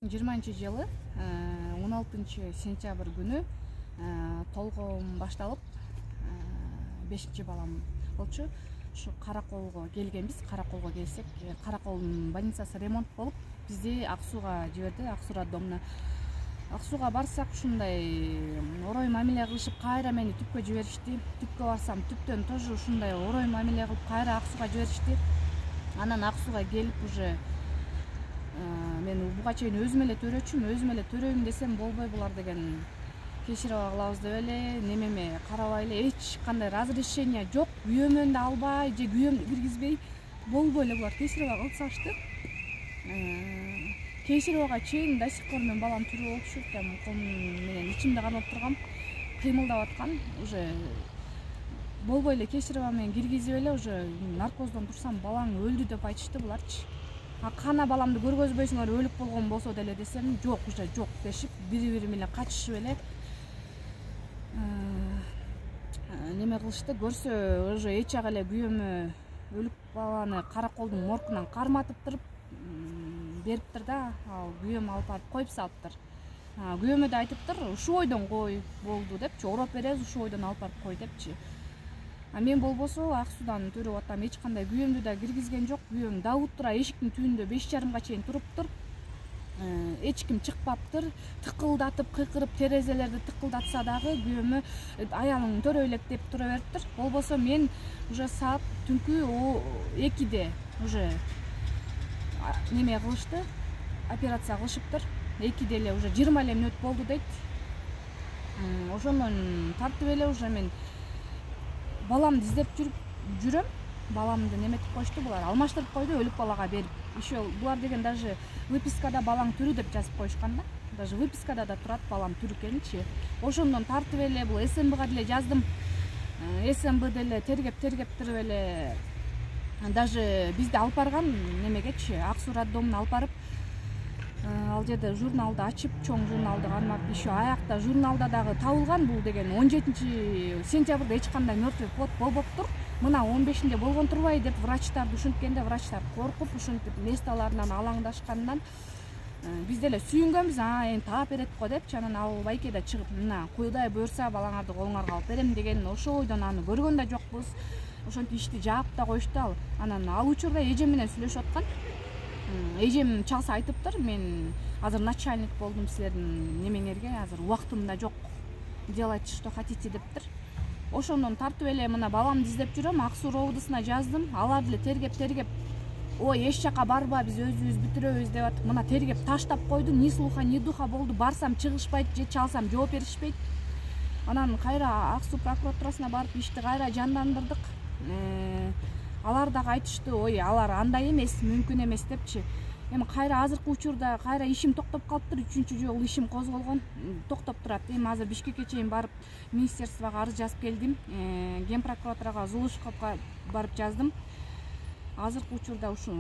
20-жылы 16-сентябрь күнү толгоом башталып 5-балам болчу. Ушу Караколго келгенбиз. Караколго келсек, Караколдун больницасы ремонт болуп, бизди Ак Сууга жиберди, Ак Суу роддомуна. Ак Сууга барсак, ушундай орой мамиле кылышып, кайра мени түпкө жиберишти. Түпкө барсам, түптөн тоже ушундай орой мамиле кылып, кайра Ак Сууга жиберишти. Анан Ак Сууга келип уже мен буга чейин өзүм эле төрөйм десем болбой, булар деген кечирип калабыз деп эле немеме карабайлы, эч кандай разрешение жок, күйөөмөн да албай же күйөөмдү киргизбей болбой эле булар кечирип кылышты. Кечирибага чейин до сих пор мен балам тирүү болчу, колум менен ичимде кармап тургам, кыймылдап аткан, уже болбой эле кечирип мен киргизип эле уже наркоздон турсам балаң өлдү деп айтышты буларчы. Кана баламды көргөзбөйсүңөр, өлүп болгон болсо деле десем, жок, уже жок дешип, бири-бири менен качышып эле неме кылышты. Көрсө уже эч ак эле күйөөмө өлүп баланы Караколдун моргунан карматыптыр, бериптир да, ал күйөөмө алып барып коюп салыптыр. Күйөөмө да айтыптыр, ушул бойдон кой болду депчи, ороп беребиз, ушул бойдон алып барып кой депчи. Мен болбосо Ак Суудан төрөп атам, эч кандай күйөөмдү да киргизген жок. Күйөөм дабут тура эшиктин түбүндө 5:30 чейин туруптур. Эч ким чыкпаптыр. Тыкылдатып, кыйкырып, терезелерди тыкылдатса дагы күйөөмө аялың төрөй элек деп тура бериптир. Болбосо мен уже саат түнкү 2-де уже неме кылышты, операция кылышыптыр. 2-де эле уже 20 эле мүнөт болду дейт. Ошондон тартып эле уже мен баламды издеп жүрөм. Баламды неметип коюшту булар, алмаштырып койду өлүк балага берип. Еще булар деген даже выпискада балаң тирүү деп жазып коюшкан да. Даже выпискада да турат балам тирүү экенинчи. Ошондон тартып эле бул СМБга деле жаздым. СМБ деле тергеп эле даже бизди алып барган немегечи, Ак Суу роддомуна алып барып, ал жерде журналды ачып, чоң журналды кармап, еще аякта журналда дагы табылган бул деген 17-сентябрда эч кандай мертвый плод болбоптур. Мына 15-inde болгон турбай деп врачтарды ушинткенде, врачтар коркуп, ушинтип месталарынан алаңдашкандан биз деле сүйүнгөнбүз, эми таап берет го депчи. Анан ал байке да чыгып, мына Кудай буйрса балаңарды колуңарга алып берем деген, ошол ойдон аны көргөн да жокпуз. Ошентип ишти жаап да коюшту. Анан ал учурда эжем менен сүйлөшүп аткан. Эжем чалса айтыптыр, мен азыр начальник болдум силердин немеңерге, азыр убактым да жок, делайте что хотите дептир. Ошондон тартып эле мына баламды издеп жүрөм, Ак Суу РОВДсуна жаздым. Алар деле тергеп, ой, эч жака барба, биз өзүбүз бүтүрөбүз деп атып, мына тергеп таштап койду. Ни слуха, ни духа болду. Барсам чыгышпайт, же чалсам жооп беришпейт. Анан кайра Ак Суу прокуратурасына барып ишти кайра жандандырдык. Алар дагы айтышты, ой, алар андай эмес, мүмкүн эмес депчи. Эми кайра азыркы учурда кайра ишим токтоп калыптыр, 3-чү жолу ишим козголгон, токтоп турат. Эми азыр Бишкекке чейин барып министерствого арыз жазып келдим. Ген прокуратурага Зулушевго барып жаздым. Азыркы учурда ушул